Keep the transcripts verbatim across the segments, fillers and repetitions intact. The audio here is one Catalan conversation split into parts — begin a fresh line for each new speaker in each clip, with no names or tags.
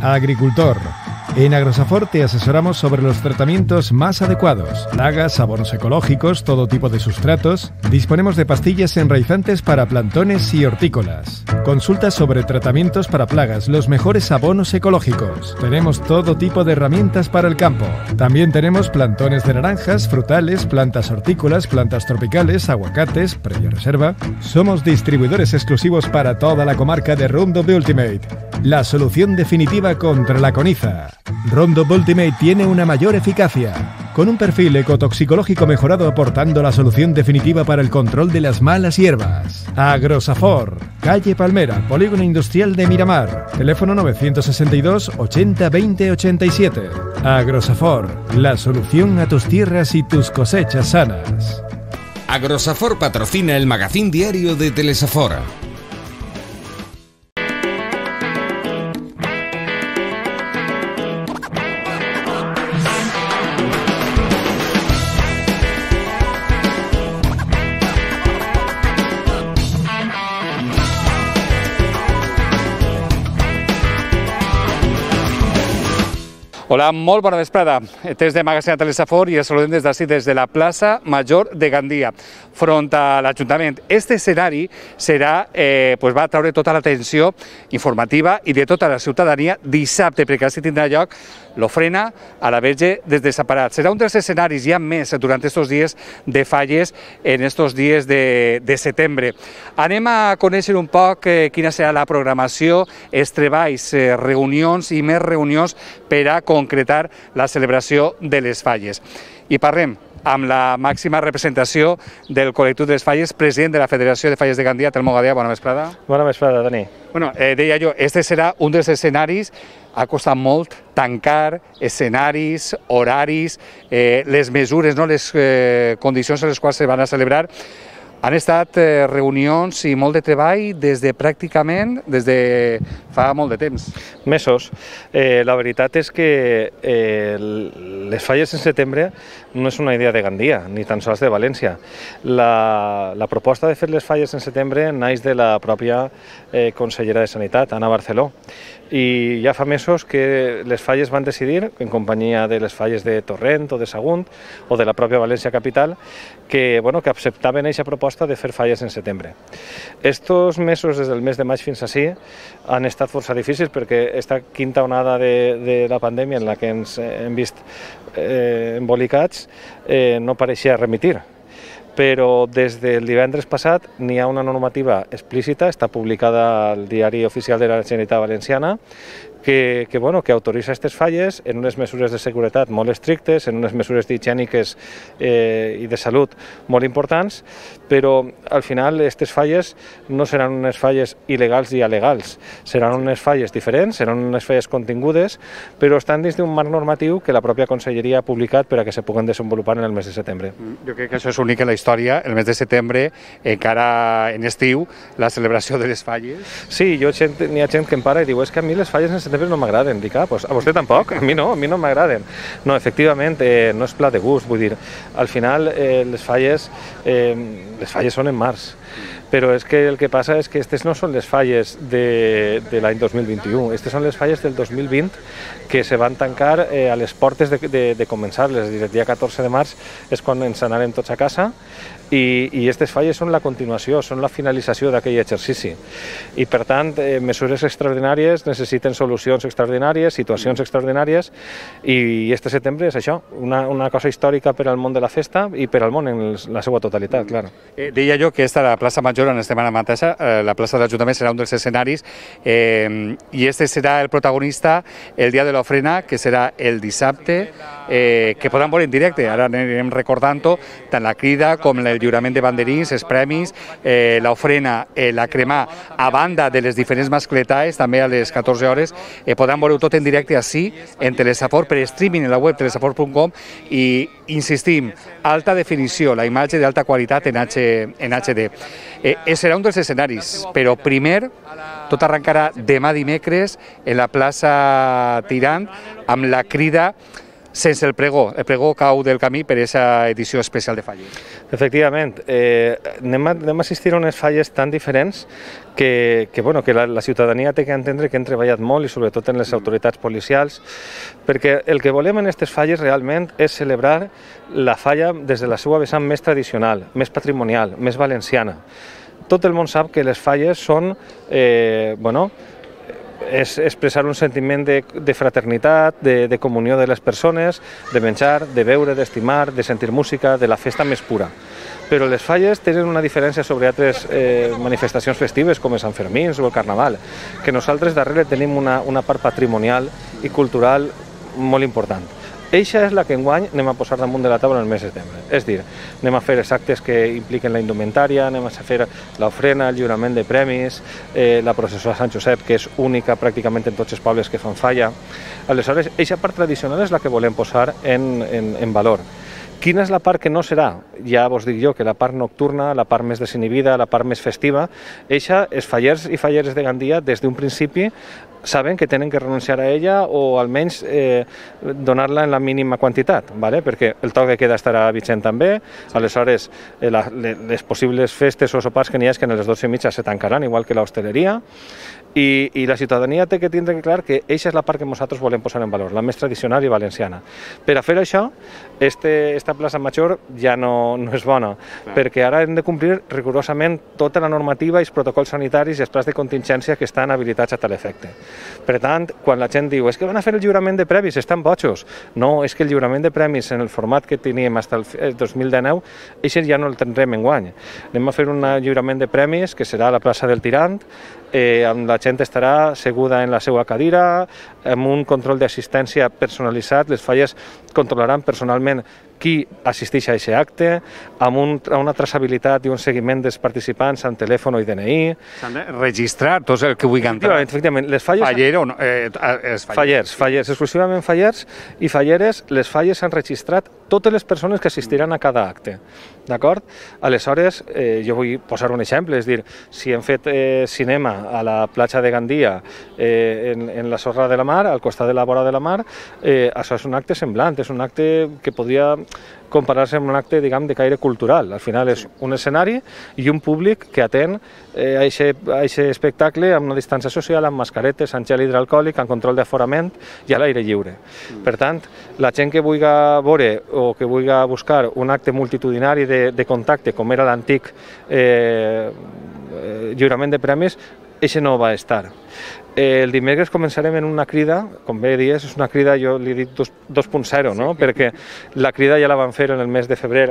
Agricultor. En Agrosafor te asesoramos sobre los tratamientos más adecuados, plagas, abonos ecológicos, todo tipo de sustratos. Disponemos de pastillas enraizantes para plantones y hortícolas. Consulta sobre tratamientos para plagas, los mejores abonos ecológicos. Tenemos todo tipo de herramientas para el campo. También tenemos plantones de naranjas, frutales, plantas hortícolas, plantas tropicales, aguacates, previa reserva. Somos distribuidores exclusivos para toda la comarca de Roundup Ultimate, la solución definitiva contra la coniza. Roundup Ultimate tiene una mayor eficacia, con un perfil ecotoxicológico mejorado aportando la solución definitiva para el control de las malas hierbas. Agrosafor, calle Palmera, Polígono Industrial de Miramar, teléfono novecientos sesenta y dos ochenta veinte ochenta y siete. Agrosafor, la solución a tus tierras y tus cosechas sanas.
Agrosafor patrocina el magazín diario de Telesafor.
Hola, molt bona vesprada. Des de Magazín de Telesafor i els saludem des d'ací, des de la plaça Major de Gandia, front a l'Ajuntament. Este escenari serà, eh, pues va traure tota l'atenció informativa i de tota la ciutadania dissabte, perquè així tindrà lloc l'ofrena a la Verge dels Desemparats. Serà un dels escenaris, hi ha més durant aquests dies de falles, en aquests dies de, de setembre. Anem a conèixer un poc eh, quina serà la programació, els treballs, eh, reunions i més reunions per a concretar la celebració de les falles. I parlem amb la màxima representació del col·lectiu de les falles, president de la Federació de Falles de Gandia, Telmo Gadea. Bona vesprada.
Bona vesprada, Dani.
Bueno, eh, deia jo, este serà un dels escenaris. Ha costat molt tancar escenaris, horaris, eh, les mesures, no? Les eh, condicions en les quals se van a celebrar. Han estat eh, reunions i molt de treball des de pràcticament des de fa molt de temps.
Mesos. Eh, la veritat és que eh, les falles en setembre no és una idea de Gandia, ni tan sols de València. La, la proposta de fer les falles en setembre naix de la pròpia eh, consellera de Sanitat, Ana Barceló. I ja fa mesos que les falles van decidir, en companyia de les falles de Torrent o de Sagunt o de la pròpia València Capital, que, bueno, que acceptaven aquesta proposta de fer falles en setembre. Estos mesos, des del mes de maig fins així, han estat força difícils perquè aquesta quinta onada de, de la pandèmia en la que ens hem vist eh, embolicats eh, no pareixia remitir. Però des del divendres passat n'hi ha una normativa explícita, està publicada al Diari Oficial de la Generalitat Valenciana, que, que, bueno, que autoritza aquestes falles en unes mesures de seguretat molt estrictes, en unes mesures higièniques eh, i de salut molt importants, però al final aquestes falles no seran unes falles il·legals i alegals, seran unes falles diferents, seran unes falles contingudes, però estan dins d'un marc normatiu que la pròpia Conselleria ha publicat per a que se puguen desenvolupar en el mes de setembre.
Jo crec que això és únic en la història, el mes de setembre, encara en estiu, la celebració de les falles.
Sí, jo n'hi ha gent que em para i diu, és que a mi les falles en setembre no m'agraden. Dic, ah, pues a vostè tampoc? A mi no, a mi no m'agraden. No, efectivament, eh, no és pla de gust, vull dir, al final eh, les falles, eh, les falles són en març. Però és que el que passa és que aquestes no són les falles de, de l'any dos mil vint-i-u, aquestes són les falles del dos mil vint que se van tancar eh, a les portes de, de, de començar-les, és a dir, el dia catorze de març és quan ens anàrem tots a casa i, i aquestes falles són la continuació, són la finalització d'aquell exercici. I per tant, eh, mesures extraordinàries necessiten solucions extraordinàries, situacions extraordinàries i, i este setembre és això, una, una cosa històrica per al món de la festa i per al món en la seva totalitat, clar.
Eh, deia jo que esta la plaça Major en setmana mateixa, eh, la plaça de l'Ajuntament serà un dels escenaris eh, i este serà el protagonista el dia de l'ofrena, que serà el dissabte, eh, que podran veure en directe. Ara anirem recordant-ho, tant la crida com el lliurament de banderins, els premis, eh, l'ofrena, eh, la cremar, a banda de les diferents mascletades, també a les catorze hores, eh, podran veure tot en directe així, en Telesafor, per streaming en la web telesafor punt com i, insistim, alta definició, la imatge d'alta qualitat en, H, en H D. Eh, serà un dels escenaris, però primer tot arrencarà demà dimecres en la plaça Tirant amb la crida sense el pregó. El pregó cau del camí per aquesta edició especial de falles.
Efectivament, eh, anem, a, anem a assistir a unes falles tan diferents que, que, bueno, que la, la ciutadania té que entendre que hem treballat molt i sobretot en les autoritats policials, perquè el que volem en aquestes falles realment és celebrar la falla des de la seva vessant més tradicional, més patrimonial, més valenciana. Tot el món sap que les falles són, eh, bueno, és expressar un sentiment de, de fraternitat, de, de comunió de les persones, de menjar, de beure, d'estimar, de sentir música, de la festa més pura. Però les falles tenen una diferència sobre altres eh, manifestacions festives com els Sant Fermins o el Carnaval, que nosaltres darrere tenim una, una part patrimonial i cultural molt important. Eixa és la que enguany anem a posar damunt de la taula en el mes de setembre. És dir, anem a fer els actes que impliquen la indumentària, anem a fer l'ofrena, el lliurament de premis, eh, la processó a Sant Josep, que és única pràcticament en tots els pobles que fan falla. Aleshores, eixa part tradicional és la que volem posar en, en, en valor. Quina és la part que no serà? Ja vos dic jo que la part nocturna, la part més desinhibida, la part més festiva, eixa, els fallers i falleres de Gandia, des d'un principi, saben que tenen que renunciar a ella o almenys eh, donar-la en la mínima quantitat, ¿vale? Perquè el toc de queda estarà vigent també, aleshores eh, la, les possibles festes o sopars que n'hi ha és que a les dotze i mitja se tancaran, igual que l'hostaleria, i, i la ciutadania té que tindre clar que eixa és la part que nosaltres volem posar en valor, la més tradicional i valenciana. Per a fer això, este, esta plaça Major ja no, no és bona, clar, perquè ara hem de complir rigorosament tota la normativa i els protocols sanitaris i els plans de contingència que estan habilitats a tal efecte. Per tant, quan la gent diu és que van a fer el lliurament de premis, estan bojos. No, és que el lliurament de premis en el format que teníem fins el dos mil dinou, això ja no el tindrem enguany. Anem a fer un lliurament de premis que serà a la plaça del Tirant, eh, amb la gent estarà seguda en la seva cadira, amb un control d'assistència personalitzat, les falles controlaran personalment qui assisteix a aquest acte, amb un, una traçabilitat i un seguiment dels participants amb telèfon i D N I.
S'han de registrar tots el que vulguin entrar.
Efectivament, les falles...
Faller o no? Eh, els fallers.
Fallers, fallers, exclusivament fallers i falleres, les falles s'han registrat totes les persones que assistiran a cada acte. D'acord? Aleshores, eh, jo vull posar un exemple, és dir, si hem fet eh, cinema a la platja de Gandia, eh, en, en la sorra de la mar, al costat de la vora de la mar, eh, això és un acte semblant, és un acte que podria comparar-se amb un acte, diguem, de caire cultural. Al final és un escenari i un públic que atén eh, a aquest espectacle amb una distància social, amb mascaretes, amb gel hidroalcohòlic, amb control d'aforament i a l'aire lliure. Per tant, la gent que vulgui veure o que vulgui buscar un acte multitudinari de, de contacte, com era l'antic eh, lliurament de premis, això no va estar. El dimecres començarem en una crida, com bé dius, és una crida, jo li dic dos punt zero, no? Sí. Perquè la crida ja la van fer en el mes de febrer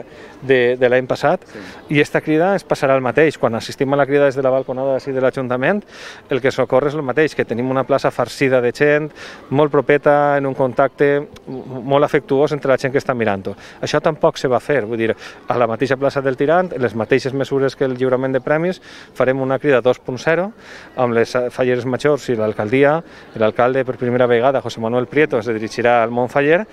de, de l'any passat, sí, i aquesta crida es passarà el mateix. Quan assistim a la crida des de la balconada d'ací de l'Ajuntament, el que s'ocorre és el mateix, que tenim una plaça farcida de gent, molt propeta, en un contacte molt afectuós entre la gent que està mirant-ho. Això tampoc se va fer, vull dir, a la mateixa plaça del Tirant, en les mateixes mesures que el lliurament de premis, farem una crida dos punt zero, amb les falleres majors i l'alcaldia. L'alcalde, per primera vegada, José Manuel Prieto, es dirigirà al món faller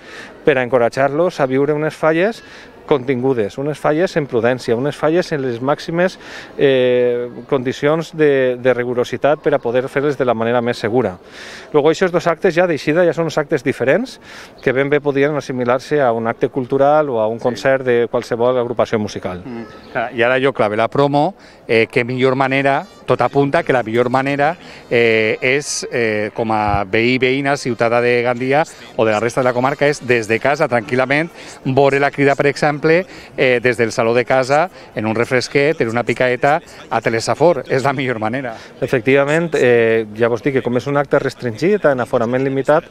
per a encoratjar-los a viure unes falles contingudes, unes falles en prudència, unes falles en les màximes eh, condicions de, de rigorositat per a poder fer-les de la manera més segura. Luego, aquests dos actes ja d'eixida ja són uns actes diferents que ben bé podien assimilar-se a un acte cultural o a un concert de qualsevol agrupació musical.
Mm. I ara jo clave la promo, eh, que millor manera, tot apunta que la millor manera eh, és, eh, com a veí, veïna, ciutadà de Gandia o de la resta de la comarca, és des de casa, tranquil·lament, veure la crida, per exemple, Eh, des del saló de casa, en un refresquet, en una picaeta, a Telesafor. És la millor manera.
Efectivament, eh, ja vos dic que com és un acte restringit, en aforament limitat,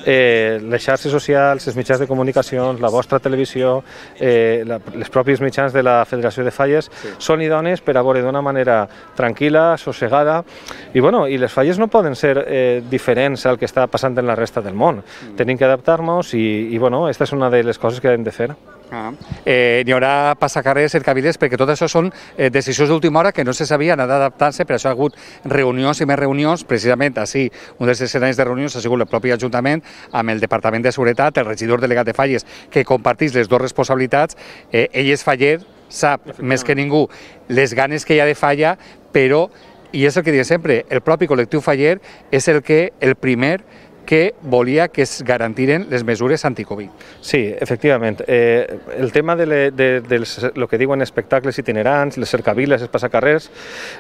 eh, les xarxes socials, els mitjans de comunicacions, la vostra televisió, eh, la, les pròpies mitjans de la Federació de Falles, sí, són idones per a veure d'una manera tranquil·la, sossegada, i, bueno, i les falles no poden ser eh, diferents al que està passant en la resta del món. Mm. Tenim que adaptar-nos i, i, bueno, aquesta és una de les coses que hem de fer.
Ah. Eh, n'hi haurà passacarrers, cercaviles, perquè tot això són eh, decisions d'última hora que no se sabien, han d'adaptar-se, per això ha hagut reunions i més reunions, precisament així, un dels escenaris de reunions ha sigut el propi Ajuntament amb el Departament de Seguretat, el regidor delegat de Falles, que compartís les dues responsabilitats. Eh, ell és faller, sap més que ningú les ganes que hi ha de falla, però, i és el que dic sempre, el propi col·lectiu faller és el que el primer que volia que es garantiren les mesures anticovid.
Sí, efectivament. Eh, el tema de, le, de, de lo que diuen espectacles itinerants, les cercaviles, els passacarrers,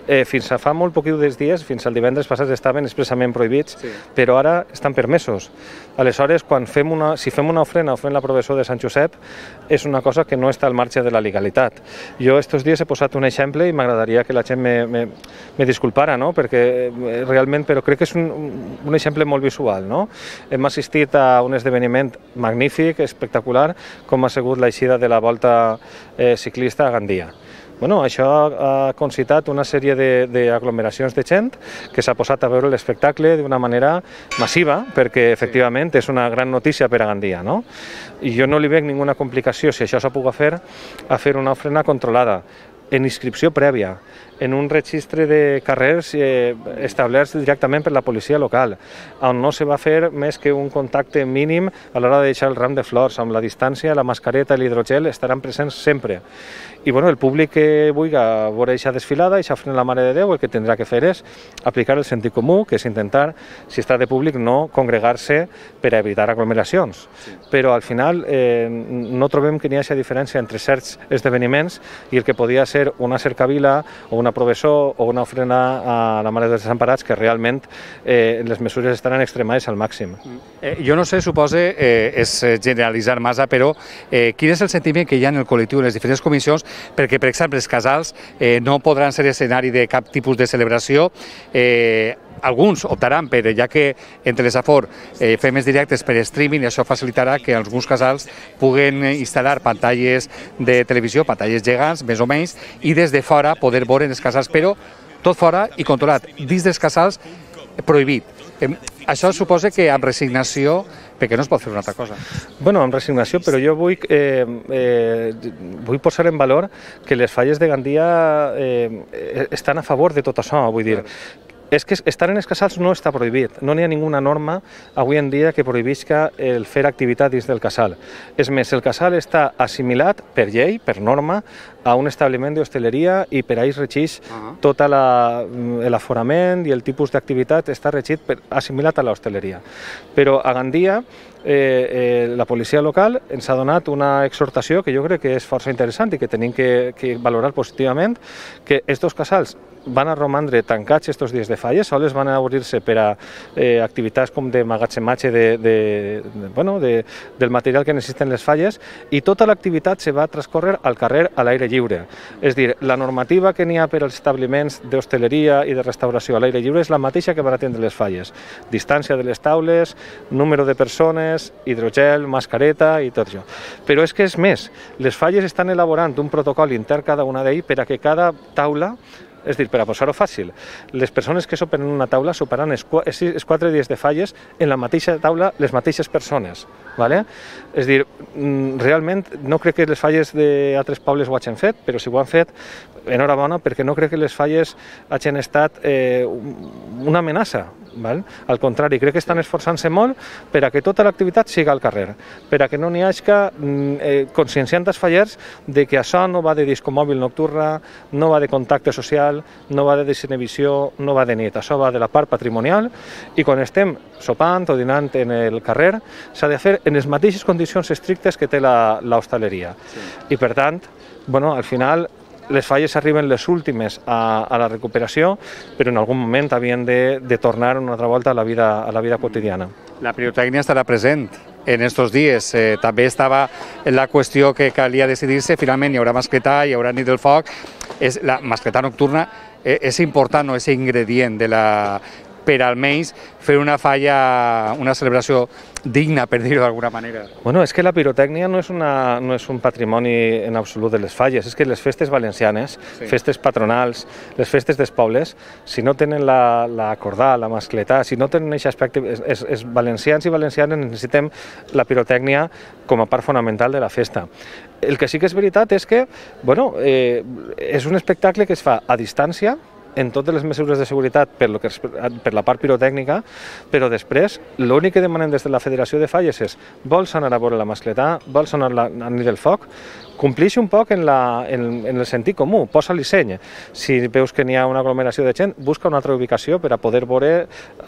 eh, fins a fa molt pocs dies, fins al divendres passat, estaven expressament prohibits, sí. Però ara estan permesos. Aleshores, quan fem una, si fem una ofrena o fem la professó de Sant Josep, és una cosa que no està al marge de la legalitat. Jo estos dies he posat un exemple i m'agradaria que la gent me, me, me disculpara, no? Perquè realment, però crec que és un, un exemple molt visual, no? Hem assistit a un esdeveniment magnífic, espectacular, com ha sigut l'eixida de la volta eh, ciclista a Gandia. Bueno, això ha concitat una sèrie d'aglomeracions de gent que s'ha posat a veure l'espectacle d'una manera massiva, perquè efectivament és una gran notícia per a Gandia, no? I jo no li veig ninguna complicació, si això s'ha pogut fer, a fer una ofrena controlada, en inscripció prèvia, en un registre de carrers eh, establerts directament per la policia local, on no se va fer més que un contacte mínim a l'hora de deixar el ram de flors, amb la distància, la mascareta i l'hidrogel estaran presents sempre. I bueno, el públic que vulgui veure aquesta desfilada, aquesta ofrena a la Mare de Déu, el que tindrà que fer és aplicar el sentit comú, que és intentar, si està de públic, no congregar-se per a evitar aglomeracions. Sí. Però al final eh, no trobem que n'hi hagi diferència entre certs esdeveniments i el que podia ser una cercavila o una professó o una ofrena a la Mare dels Desemparats, que realment eh, les mesures estaran extremades al màxim.
Eh, jo no sé, supose, eh, és generalitzar massa, però eh, quin és el sentiment que hi ha en el col·lectiu, en les diferents comissions, perquè, per exemple, els casals eh, no podran ser escenari de cap tipus de celebració. Eh, alguns optaran per, ja que entre les Safor eh, fem els directes per streaming, i això facilitarà que alguns casals puguen instal·lar pantalles de televisió, pantalles gegants, més o menys, i des de fora poder veure els casals, però tot fora i controlat. Dins dels casals, prohibit. Eh, això suposa que amb resignació, perquè no es pot fer una altra cosa.
Bueno, amb resignació, però jo vull, eh, eh, vull posar en valor que les falles de Gandia eh, estan a favor de tot això, vull dir. És que estar en els casals no està prohibit, no n'hi ha ninguna norma avui en dia que prohibisca el fer activitat dins del casal. És més, el casal està assimilat per llei, per norma, a un establiment d'hostaleria i per a ells regeix tot l'aforament i el tipus d'activitat està regit per, assimilat a l'hostaleria. Però a Gandia eh, eh, la policia local ens ha donat una exhortació que jo crec que és força interessant i que tenim que, que valorar positivament, que estos casals van a romandre tancats estos dies de falles, sols van a obrir-se per a eh, activitats com de magatzematge de, de, de, bueno, de, del material que necessiten les falles, i tota l'activitat se va transcorrer al carrer a l'aire lliure. És dir, la normativa que n'hi ha per als establiments d'hostaleria i de restauració a l'aire lliure és la mateixa que van atendre les falles. Distància de les taules, número de persones, hidrogel, mascareta i tot això. Però és que és més, les falles estan elaborant un protocol intern cada una d'ells per a que cada taula, és dir, per a posar-ho fàcil, les persones que sopen en una taula soparan els quatre dies de falles en la mateixa taula les mateixes persones. Vale? És dir, realment no crec que les falles d'altres pobles ho hagin fet, però si ho han fet, enhorabona, perquè no crec que les falles hagin estat eh, una amenaça. Val? Al contrari, crec que estan esforçant-se molt per a que tota l'activitat siga al carrer, per a que no n'hi hagi eh, conscienciant els fallers de que això no va de discomòbil nocturna, no va de contacte social, no va de desinhibició, no va de nit. Això va de la part patrimonial, i quan estem sopant o dinant en el carrer s'ha de fer en les mateixes condicions estrictes que té l'hostaleria. Sí. I per tant, bueno, al final les falles arriben les últimes a, a la recuperació, però en algun moment havien de, de tornar una altra volta a la vida, a la vida quotidiana.
La pirotècnia estarà present en estos dies. Eh, també estava la qüestió que calia decidir-se, finalment hi haurà mascletà, hi haurà nit del foc. És, la mascletà nocturna eh, és important, no? És ingredient de la... per almenys fer una falla, una celebració digna, per dir-ho d'alguna manera.
Bueno, és que la pirotècnia no és, una, no és un patrimoni en absolut de les falles, és que les festes valencianes, sí. Festes patronals, les festes dels pobles, si no tenen la, la cordà, la mascletà, si no tenen aquest aspecte, és, és, és valencians i valencianes necessitem la pirotècnia com a part fonamental de la festa. El que sí que és veritat és que, bueno, eh, és un espectacle que es fa a distància, en totes les mesures de seguretat per, lo que, per la part pirotècnica, però després l'únic que demanem des de la Federació de Falles és vols anar a veure la mascletà, vols anar a la nit del foc, complixi un poc en, la, en, en el sentit comú, posa-li seny. Si veus que n'hi ha una aglomeració de gent, busca una altra ubicació per a poder veure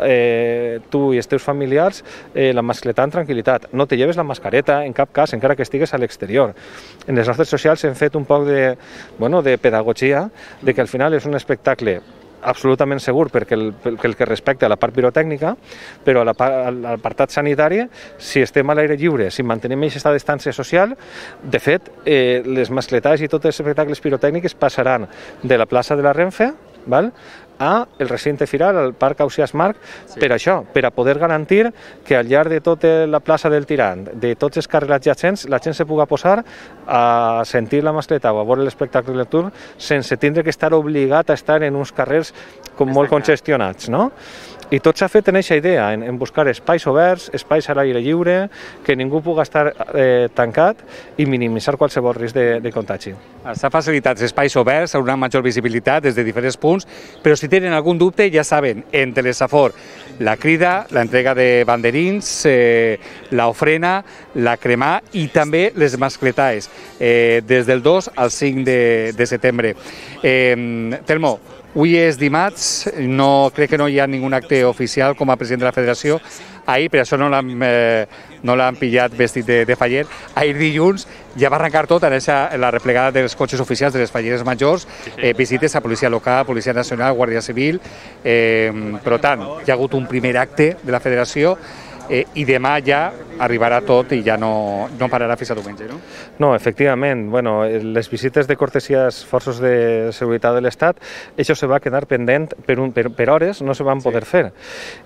eh, tu i els teus familiars eh, la mascletà en tranquil·litat. No te lleves la mascareta en cap cas, encara que estigues a l'exterior. En les nostres socials hem fet un poc de, bueno, de pedagogia, de que al final és un espectacle absolutament segur perquè el, perquè el que respecta a la part pirotècnica, però a l'apartat sanitari, si estem a l'aire lliure, si mantenim aquesta distància social, de fet, eh, les mascletades i tots els espectacles pirotècnics passaran de la plaça de la Renfe, val? a el recinte firal, al Parc Ausiàs Marc, sí. per això, per a poder garantir que al llarg de tota la plaça del Tirant, de tots els carrers adjacents, la gent se pugui posar a sentir la mascleta o a veure l'espectacle nocturn sense tindre que estar obligat a estar en uns carrers com molt congestionats, no? I tot s'ha fet en aquesta idea, en, en buscar espais oberts, espais a l'aire lliure, que ningú pugui estar eh, tancat i minimitzar qualsevol risc de, de contagi.
S'ha facilitat espais oberts, una major visibilitat des de diferents punts, però si tenen algun dubte ja saben, en Telesafor, la crida, l'entrega de banderins, eh, l'ofrena, la cremar i també les mascletaes, eh, des del dos al cinc de, de setembre. Eh, Telmo, avui és dimarts, no, crec que no hi ha ningun acte oficial com a president de la federació. Ahir, per això no l'han eh, no l'han pillat vestit de, de faller, ahir dilluns ja va arrencar tot en, esa, en la replegada dels cotxes oficials de les falleres majors, eh, visites a policia local, policia nacional, guàrdia civil, eh, per tant, hi ha hagut un primer acte de la federació, Eh, i demà ja arribarà tot i ja no, no pararà fins a diumenge, no?
No, efectivament. Bueno, les visites de cortesia als forços de seguretat de l'Estat, això se va quedar pendent per, un, per, per hores, no se van poder sí. fer.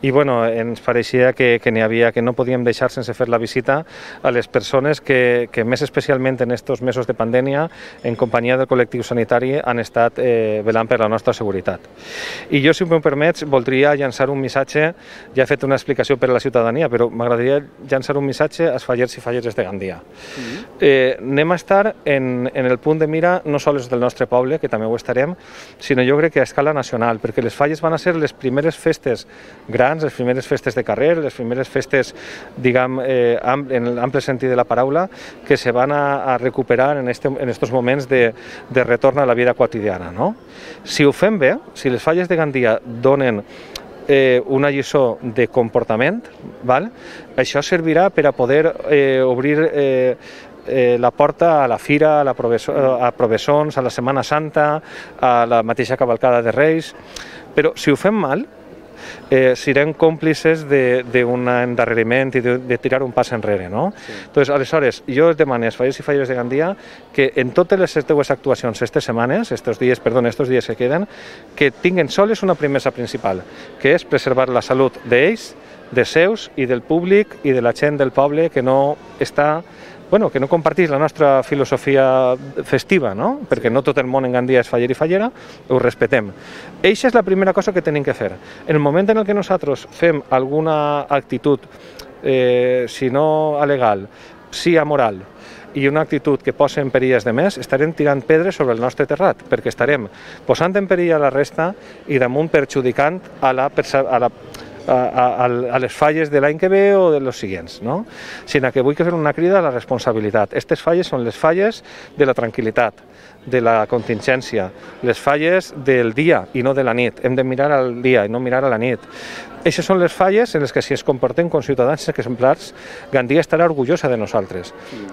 I bueno, ens pareixia que, que n'hi havia, que no podíem deixar sense fer la visita a les persones que, que més especialment en aquests mesos de pandèmia, en companyia del col·lectiu sanitari, han estat eh, velant per la nostra seguretat. I jo, si m'ho permets, voldria llançar un missatge, ja he fet una explicació per a la ciutadania, però m'agradaria llançar un missatge als fallers i falleres de Gandia. Mm-hmm. eh, anem a estar en, en el punt de mira no sols del nostre poble, que també ho estarem, sinó jo crec que a escala nacional, perquè les falles van a ser les primeres festes grans, les primeres festes de carrer, les primeres festes, diguem, eh, en l'ample sentit de la paraula, que se van a, a recuperar en estos en estos moments de, de retorn a la vida quotidiana. No? Si ho fem bé, si les falles de Gandia donen Eh, una lliçó de comportament, val? Això servirà per a poder eh, obrir eh, eh, la porta a la fira, a, la Proveso, a Provesons, a la Setmana Santa, a la mateixa cavalcada de Reis, però si ho fem mal, eh, serem còmplices d'un endarreriment i de, de tirar un pas enrere, no? Sí. Entonces, aleshores, jo demano als fallers i falleres de Gandia que en totes les seues actuacions aquestes setmanes, estos dies, perdó, estos dies que queden, que tinguen soles una premissa principal, que és preservar la salut d'ells, de seus i del públic i de la gent del poble que no està bueno, que no compartís la nostra filosofia festiva, no? Perquè no tot el món en Gandia és faller i fallera, ho respetem. Eixa és la primera cosa que tenim que fer. En el moment en què nosaltres fem alguna actitud, eh, si no alegal, sí amoral, i una actitud que posa en perill de més, estarem tirant pedres sobre el nostre terrat, perquè estarem posant en perill a la resta i damunt perjudicant a la, a la A, a, a les falles de l'any que ve o de los siguients, no? Sinó que vull que fer una crida a la responsabilitat. Aquestes falles són les falles de la tranquil·litat, de la contingència, les falles del dia i no de la nit. Hem de mirar al dia i no mirar a la nit. Aquestes són les falles en les que si es comportem com ciutadans exemplars, Gandia estarà orgullosa de nosaltres.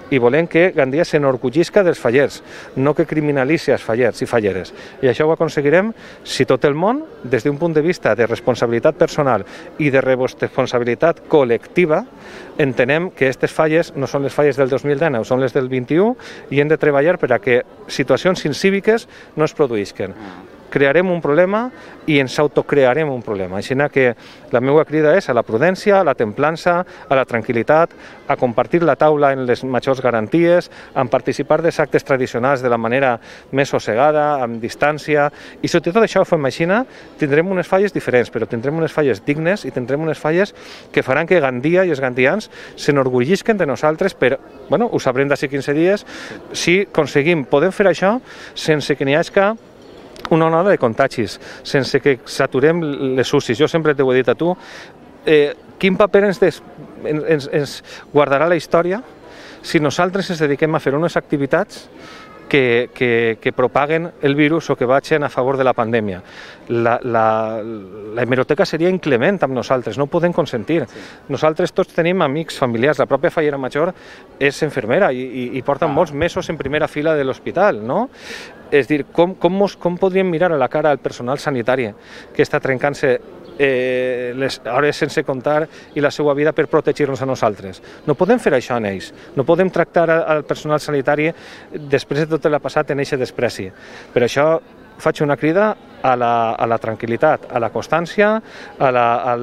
I volem que Gandia s'enorgullisca dels fallers, no que criminalitzi els fallers i falleres. I això ho aconseguirem si tot el món, des d'un punt de vista de responsabilitat personal i de responsabilitat col·lectiva, entenem que aquestes falles no són les falles del dos mil dinou, són les del vint-i-u i hem de treballar per a que situacions incíviques no es produïsquen. Crearem un problema i ens autocrearem un problema. Així que la meva crida és a la prudència, a la templança, a la tranquil·litat, a compartir la taula en les majors garanties, a participar dels actes tradicionals de la manera més sossegada, amb distància, i si tot això ho fem així, tindrem unes falles diferents, però tindrem unes falles dignes i tindrem unes falles que faran que Gandia i els gandians s'enorgullisquen de nosaltres, però bueno, ho sabrem d'ací quinze dies, si aconseguim, podem fer això sense que n'hi hagi una onada de contagis, sense que saturem les U C Is. Jo sempre t'ho he dit a tu, eh, quin paper ens, des, ens, ens guardarà la història si nosaltres ens dediquem a fer unes activitats que, que, que propaguen el virus o que vagin a favor de la pandèmia. La, la, la hemeroteca seria inclement amb nosaltres, no ho podem consentir. Sí. Nosaltres tots tenim amics, familiars, la pròpia Fallera Major és infermera i, i, i porta ah. molts mesos en primera fila de l'hospital, no? És dir, com, com, mos, com podríem mirar a la cara al personal sanitari que està trencant-se eh, les hores sense comptar i la seva vida per protegir-nos a nosaltres? No podem fer això en ells, no podem tractar al personal sanitari després de tot el passat en eixe despreci. Per això faig una crida a la, a la tranquil·litat, a la constància, a, la, a,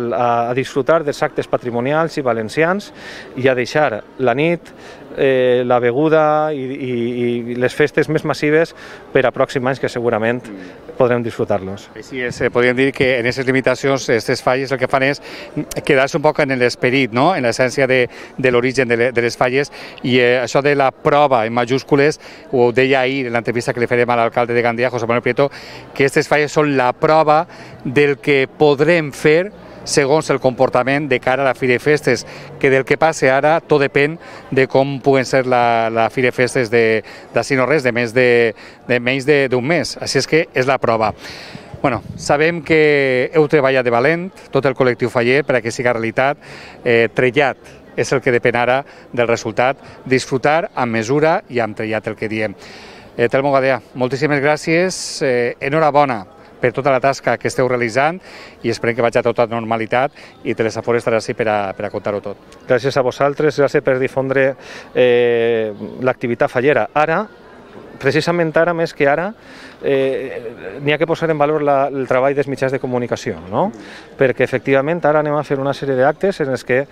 a disfrutar dels actes patrimonials i valencians i a deixar la nit, eh, la beguda i, i, i les festes més massives per a pròxims anys que segurament podrem disfrutar-los.
Així és, podríem dir que en aquestes limitacions, aquestes falles, el que fan és quedar-se un poc en l'esperit, no? En l'essència de, de l'origen de, de les falles, i eh, això de la prova en majúscules, ho deia ahir en l'entrevista que li farem a l'alcalde de Gandia, José Manuel Prieto, que aquestes falles són la prova del que podrem fer segons el comportament de cara a la Fira de Festes, que del que passe ara tot depèn de com puguen ser la, la Fira de Festes de, d'ací no res, de, més de, de menys d'un mes. Així és que és la prova. Bueno, sabem que heu treballat de valent, tot el col·lectiu faller, per a que siga realitat. Eh, trellat és el que depèn ara del resultat. Disfrutar amb mesura i amb trellat, el que diem. Eh, Telmo Gadea, moltíssimes gràcies. Eh, enhorabona per tota la tasca que esteu realitzant i esperem que vagi a tota normalitat i Telesafor estarà així per a, per a contar-ho tot.
Gràcies a vosaltres, gràcies per difondre eh, l'activitat fallera. Ara, precisament ara, més que ara, eh, n'hi ha que posar en valor la, el treball dels mitjans de comunicació, no? Perquè efectivament ara anem a fer una sèrie d'actes en els que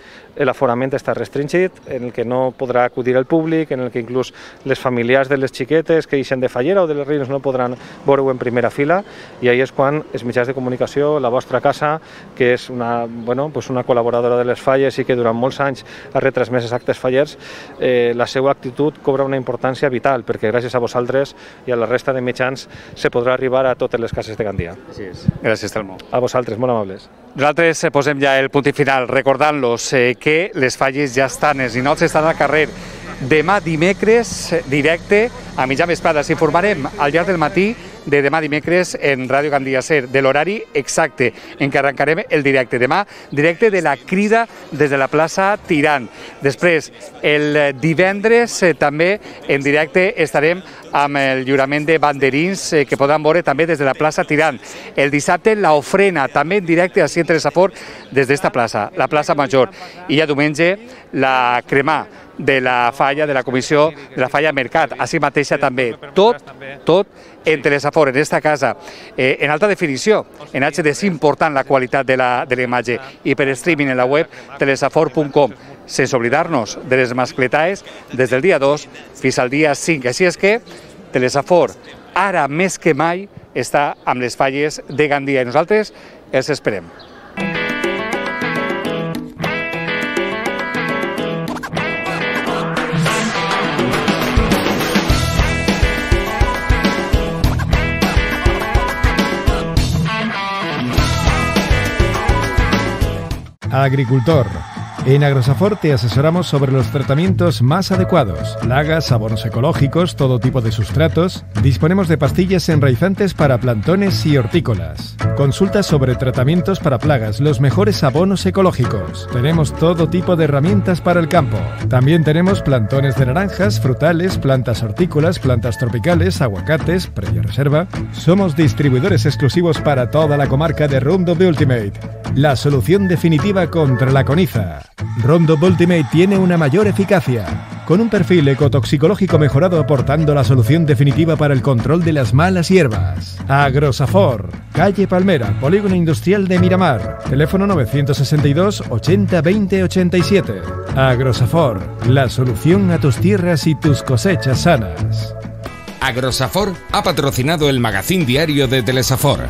l'aforament està restringit, en el que no podrà acudir el públic, en el que inclús les familiars de les xiquetes que ixen de Fallera o de les Reines no podran veure-ho en primera fila, i ahí és quan els mitjans de comunicació, la vostra casa, que és una, bueno, pues una col·laboradora de les falles i que durant molts anys ha retransmès els actes fallers, eh, la seva actitud cobra una importància vital, perquè gràcies a vosaltres i a la resta de mitjans se podrà arribar a totes les cases de Gandia.
Així és. Gràcies, Telmo.
A vosaltres, molt amables.
Nosaltres posem ja el punt i final, recordant-los eh, que les falles ja estan, els ninots estan al carrer. Demà dimecres, directe, a mitjà vesprada. S'informarem al llarg del matí de demà dimecres en Ràdio Gandia Ser, de l'horari exacte en què arrencarem el directe. Demà, directe de la crida des de la plaça Tirant. Després, el divendres, eh, també en directe estarem amb el lliurament de banderins eh, que podran veure també des de la plaça Tirant. El dissabte, l'ofrena, també en directe a Telesafor des d'esta plaça, la plaça Major. I ja diumenge, la cremà de la falla, de la comissió de la falla Mercat, així mateixa també. Tot, tot en Telesafor, en esta casa, eh, en alta definició, en H D, és important la qualitat de la, de la imatge, i per streaming en la web telesafor punt com, sense oblidar-nos de les mascletaes des del dia dos fins al dia cinc. Així és que Telesafor, ara més que mai, està amb les falles de Gandia i nosaltres els esperem.
Agricultor. En Agrosafor te asesoramos sobre los tratamientos más adecuados, plagas, abonos ecológicos, todo tipo de sustratos. Disponemos de pastillas enraizantes para plantones y hortícolas. Consulta sobre tratamientos para plagas, los mejores abonos ecológicos. Tenemos todo tipo de herramientas para el campo. También tenemos plantones de naranjas, frutales, plantas hortícolas, plantas tropicales, aguacates, previa reserva. Somos distribuidores exclusivos para toda la comarca de Roundup Ultimate, la solución definitiva contra la coniza. Roundup Ultimate tiene una mayor eficacia, con un perfil ecotoxicológico mejorado, aportando la solución definitiva para el control de las malas hierbas. Agrosafor, calle Palmera, Polígono Industrial de Miramar, teléfono novecientos sesenta y dos, ochenta, veinte, ochenta y siete. Agrosafor, la solución a tus tierras y tus cosechas sanas.
Agrosafor ha patrocinado el magazín diario de Telesafor.